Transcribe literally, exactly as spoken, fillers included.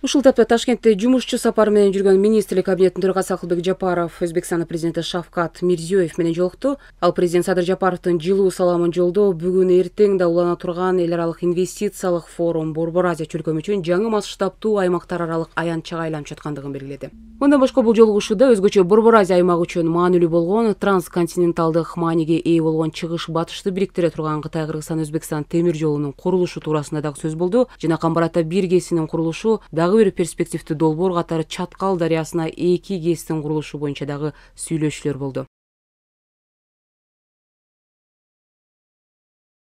Ушул тапта Ташкентте жумушчу сапары менен жүргөн министрлик кабинетинин төрагасы Акылбек Жапаров Өзбекстандын президенти Шавкат Мирзиёев менен жолукту. Ал президент Садыр Жапаровдун жылуу саламын жолдоо бүгүн эртең да улана турган эл аралык инвестициялык форум Борбор Азия чөлкөмү үчүн жаңы масштабтуу аймактар аралык аянтчага айланып жаткандыгын белгиледи. Мындан башка бул жолугушууда өзгөчө Борбор Азия аймагы үчүн маанилүү болгон трансконтиненталдык мааниге ээ болгон чыгыш батышты бириктире турган Кытай Кыргызстан Өзбекстан темир жолунун курулушу туурасында дагы сөз болду жана Камбар-Ата бир КЭСинин курулушу дагы бир перспективдүү долбоор катары Чаткал дарыясына эки КЭСтин курулушу боюнча дагы сүйлөшүүлөр болду.